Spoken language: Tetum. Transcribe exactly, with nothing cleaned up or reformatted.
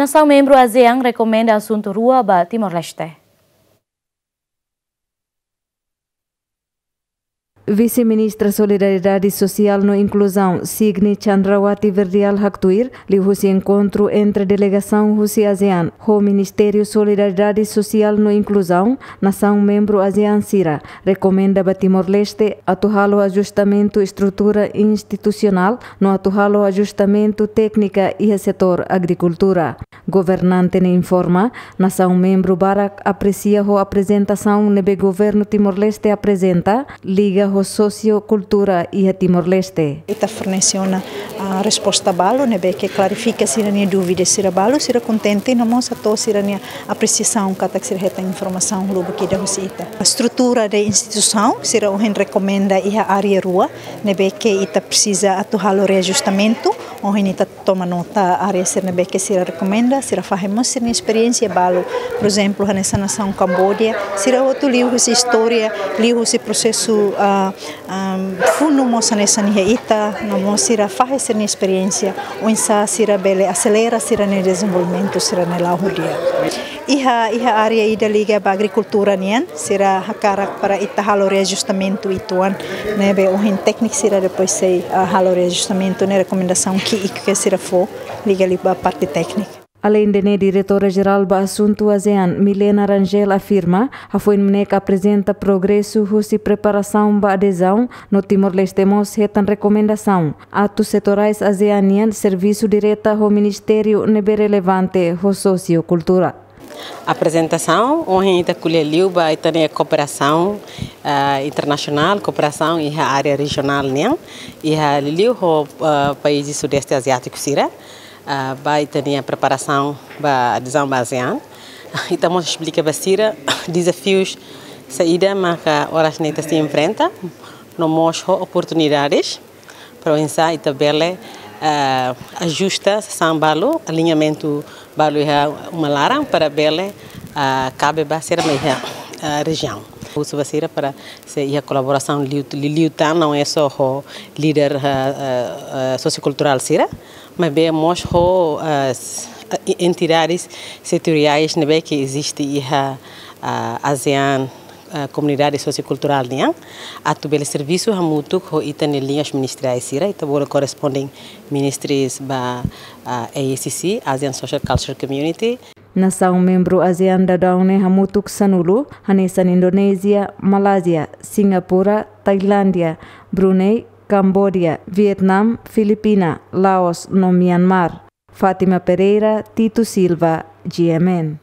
Nasaun membru ASEAN rekomenda asuntu rua ba Timor-Leste. Vise-Ministra Solidariedade Sosiál no Inkluzaun, Signy Chandrawati Verdial haktuir, liuhusi enkontru entre delegasaun husi ASEAN ho Ministériu Solidariedade Sosiál no Inkluzaun, nasaun membru ASEAN sira rekomenda ba Timor-Leste atu halo ajustamentu estrutura institusionál no atu halo ajustamentu téknika iha setór agrikultura. Governante ne'e informa, nasaun membru barak apresia ho aprezentasaun ne'ebé Governu Timor-Leste aprezenta, liga ho sosiokultura iha Timor-Leste. Ita fornese ona, ah, resposta balu, ne'ebé ke klarifika sira-nia dúvida sira balu, sira kontente, no mós hato'o sira-nia apresiasaun katak sira hetan informasaun lubuk ida husi ita. Estrutura de instituisaun, sira ohin rekomenda iha área rua, ne'ebé ke ita presiza atu halo reajustamentu, ohin ita toma nota área sira ne'ebé ke sira rekomenda, sira fahe mós sira-nia esperiénsia balu. Por ezemplu, hanesan nasaun Kamboja, sira hotu liuhusi istória, liuhusi prosesu, ah, ah, funu mós hanesan iha ita, no mós sira fahe sira-nia esperiénsia, oinsá sira bele aselera sira-nia dezenvolvimentu sira-nia la'o ho di'ak. Iha, iha área ida liga ba agrikultura nian, sira hakarak para ita halo reajustamentu uitoan, ne'ebé ohin tékniku sira depois sei, ah, halo reajustamentu ne'e rekomendasaun ki'ik ke sira fó liga liu ba parte tékniku. Aleinde ne'e, Diretora Jerál ba Asuntu ASEAN, Milena Rangel afirma, hafoin MNEK aprezenta progresu husi preparasaun ba adezaun, no Timor-Leste mós hetan rekomendasaun atu setorais ASEAN nian servisu direta ho ministériu ne'ebé relevante ho sosiokultura. Aprezentasaun, ohin ita ko'alia liu ba ita-nia kooperasaun, ah, internasionál, kooperasaun iha área rejionál nian, iha liuliu ho, ah, país Sudeste Aziátiku sira, ah, ba ita-nia preparasaun ba adezaun ba ASEAN. Ita mós esplika ba sira dezafius saida maka oras ne'e ita sei enfrenta, no mós ho oportunidades. Para oinsá ita bele, eh, ajusta sasán balu, aliñamentu balu iha uma laran para bele, eh, kabe ba sira mai iha, eh, rejiaun. Husu ba sira para sei iha kolaborasaun liu, liu, liután, não é só ho líder, eh, eh, eh, sosiokulturál sira, maibé mós ho, eh, s-, eh, entidades setoriais ne'ebé ke eziste iha, eh, ASEAN, eh, komunidade sosiokulturál nian, atu bele servisu hamutuk ho ita-nia liñas ministeriais sira, ita bolu corresponding ministries ba, ah, A S C C, Asian Social Culture Community. Nasaun membru ASEAN daudaun ne'e hamutuk sanulu, hanesan Indonézia, Malázia, Singapura, Tailándia, Brunei, Kamboja, Vietnam, Filipina, Laos no Myanmar. Fátima Pereira, Tito Silva, G M N.